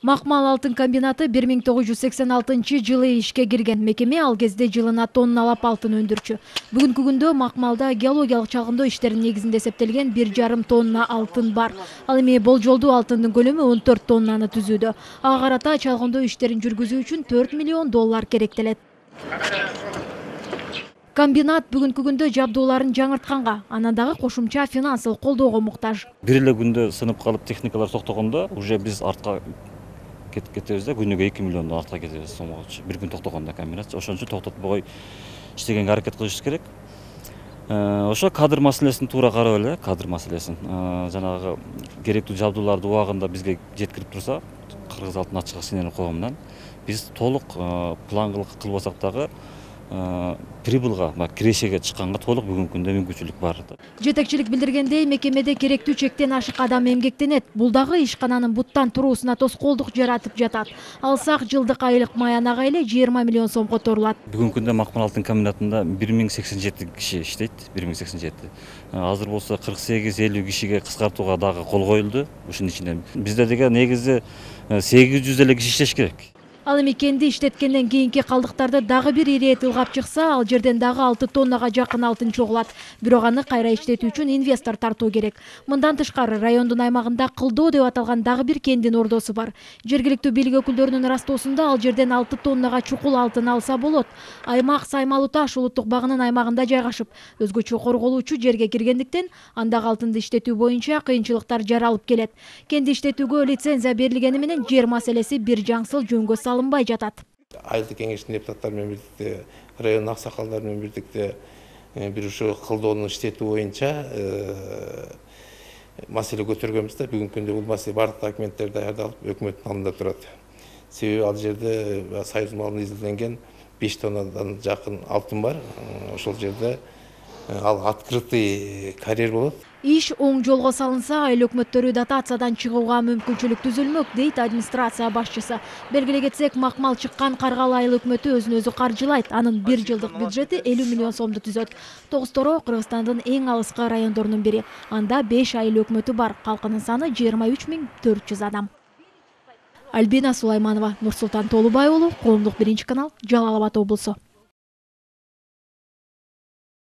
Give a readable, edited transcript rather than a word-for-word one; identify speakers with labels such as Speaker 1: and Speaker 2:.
Speaker 1: Макмал алтын комбинаты 1986-жылы ишке кирген. Мекеме ал кезде жылына тонналап алтын өндүрчү. Бүгүнкү күндө Макмалда геологиялык чагындоо иштеринин негизинде эсептелген 1,5 тонна алтын бар. Ал эми болжолдуу алтындын көлөмү 14 тоннаны түзүүдө. Ага карата чалгындоо иштерин жүргүзүү үчүн $4 миллион керектелет. Комбинат бүгүнкү күндө жабдууларын жаңыртканга, анан дагы кошумча финансылык колдоого муктаж.
Speaker 2: Бир эле күндө сынып калып техникалар токтогондо уже биз артка кетебиз да, күнүгө 2 миллиондон артка кетебиз сомогочу. Бир күн токтогондо комбинат, ошон үчүн токтотпой иштегенге аракет кылышыбыз керек. Ошо кадр маселесин туура карап эле, кадр маселесин. Жанагы керектүү жабдууларды убагында бизге жеткирип турса, Кыргыз алтын ачык акционерлик коомунан биз толук план кылбасак дагы прибылга, кирешеге чыкканга толук бүгүнкү күндө мүмкүнчүлүк бар.
Speaker 1: Жетекчилик билдиргендей, мекемеде керектүү чектен ашык адам эмгектенет. Бул дагы ишкананын буттан туруусуна тоскоолдук жаратып жатат. Алсак жылдык айлык маянага эле 20 миллион сом которулат.
Speaker 2: Бүгүнкү күндө Макмал алтын комбинатында 1087 киши иштейт, 1087. Азыр болсо 48-50 кишиге кыскартууга дагы кол коюлду. Ушунун ичинде бизде деген негизи 800 эле киши иштеш керек.
Speaker 1: Ал эми кенди иштеткенден кийинки калдыктарды дагы бир ирет ылгап чыкса, ал жерден дагы 6 тоннага жакын алтын чогулат. Бирок аны кайра иштетүү үчүн инвестор тартуу керек. Мындан тышкары райондун аймагында Кылдоо деп аталган дагы бир кендин ордосу бар. Жергиликтүү бийлик өкүлдөрүнүн ырастоосунда ал жерден 6 тоннага чукул алтын алса болот. Аймак Саймалуу таш улуттук багынын аймагында жайгашып, өзгөчө корголуучу жерге киргендиктен андагы алтынды иштетүү боюнча кыйынчылыктар жаралып келет. Кенди иштетүүгө лицензия берилгени менен жер маселеси бир жаңсыл жөнгө алынбай жатат.
Speaker 3: Айылдык кеңештин депутаттары менен бирдикте, район аксакалдары менен бирдикте бир ушу кылдоону иштетүү боюнча маселе көтөргөнбүз да. Бүгүнкү күндө бул маселе бардык документтер даярдалып, өкмөттүн алдында турат. Себеби ал жерде союз малынан изилденген 5 тоннадан жакын алтын бар. Ошол жерде ал открытый карьер болот.
Speaker 1: Иш оң жолго салынса, айыл өкмөттөрү дотациядан чыгууга мүмкүнчүлүк түзүлмөк, дейт администрация башчысы. Белгилей кетсек, Макмал чыккан Каргалы айыл өкмөтү өзүн өзү каржылайт. Анын 1 жылдык бюджети 50 миллион сомду түзөт. Тогустороо Кыргызстандын эң алыскы райондорунун бири. Анда 5 айыл өкмөтү бар. Калкынын саны 23 400 адам. Альбина Сулайманова, Нурсултан Толубай уулу, Коомдук биринчи канал, Жалал Абад облусу.